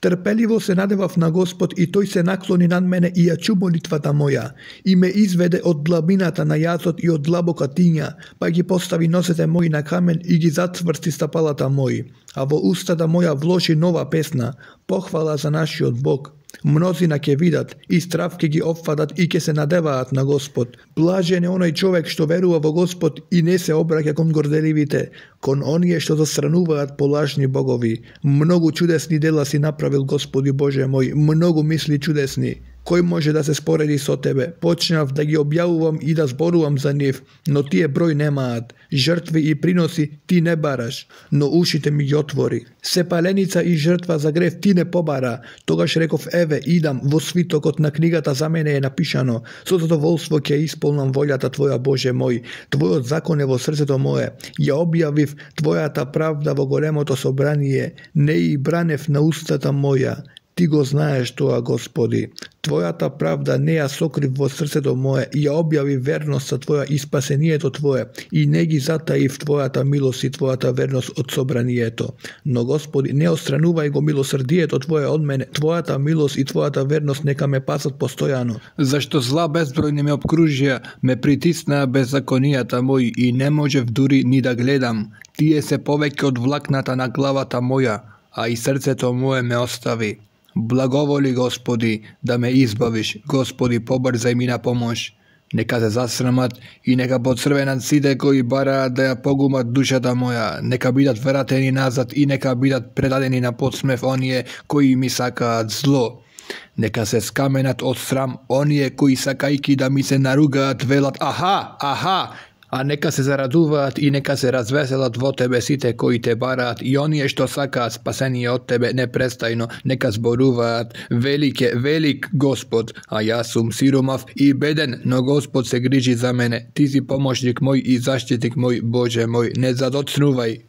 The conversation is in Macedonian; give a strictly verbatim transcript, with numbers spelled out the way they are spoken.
Трпеливо се надевав на Господ и тој се наклони над мене и ја чу молитвата моја, и ме изведе од длабината на јазот и од длабока тиња, па ги постави носете мои на камен и ги затврсти стапалата мои, а во устата моја вложи нова песна, похвала за нашиот Бог. Мнозина ќе видат и страв ќе ги опфатат и ќе се надеваат на Господ. Блажен е оној човек што верува во Господ и не се обраќа кон горделивите, кон оние што застрануваат по лажни богови. Многу чудесни дела си направил, Господи Боже мој, многу мисли чудесни. Кој може да се спореди со тебе? Почнав да ги објавувам и да зборувам за нив, но тие број немаат. Жртви и приноси ти не бараш, но ушите ми ги отвори. Сепаленица и жртва за грев ти не побара. Тогаш реков, еве, идам, во свитокот на книгата за мене е напишано. Со задоволство ќе исполнам волјата Твоја, Боже мој. Твојот закон е во срцето мое. Ја објавив Твојата правда во големото собрание. Не и бранев на устата моја. Ти го знаеш тоа, Господи. Твојата правда не ја сокрив во срцето мое и ја објави верноста Твоја и спасението Твое и не ги затаив Твојата милост и Твојата верност од собранието. Но, Господи, не отстранувај го милосрдието Твое од мене, Твојата милост и Твојата верност нека ме пасат постојано. Зашто зла безбројни ме обкружија, ме притиснаа беззаконијата мои и не можев дури ни да гледам. Тие се повеќе од влакната на главата моја, а и срцето мое ме остави. Благоволи, Господи, да ме избавиш, Господи, побрзај ми на помош. Нека се засрамат и нека поцрвенат сите кои бараат да ја погумат душата моја, нека бидат вратени назад и нека бидат предадени на подсмев оние кои ми сакаат зло. Нека се скаменат од срам оние кои сакајки да ми се наругаат велат аха, аха, а нека се зарадуваат и нека се развеселат во Тебе сите кои Те бараат и оние што сакаат спасение од Тебе непрестајно, нека зборуваат велик е, велик Господ, а јас сум сиромав и беден, но Господ се грижи за мене. Ти си помошник мој и заштитник мој, Боже мој, не задоцнувај.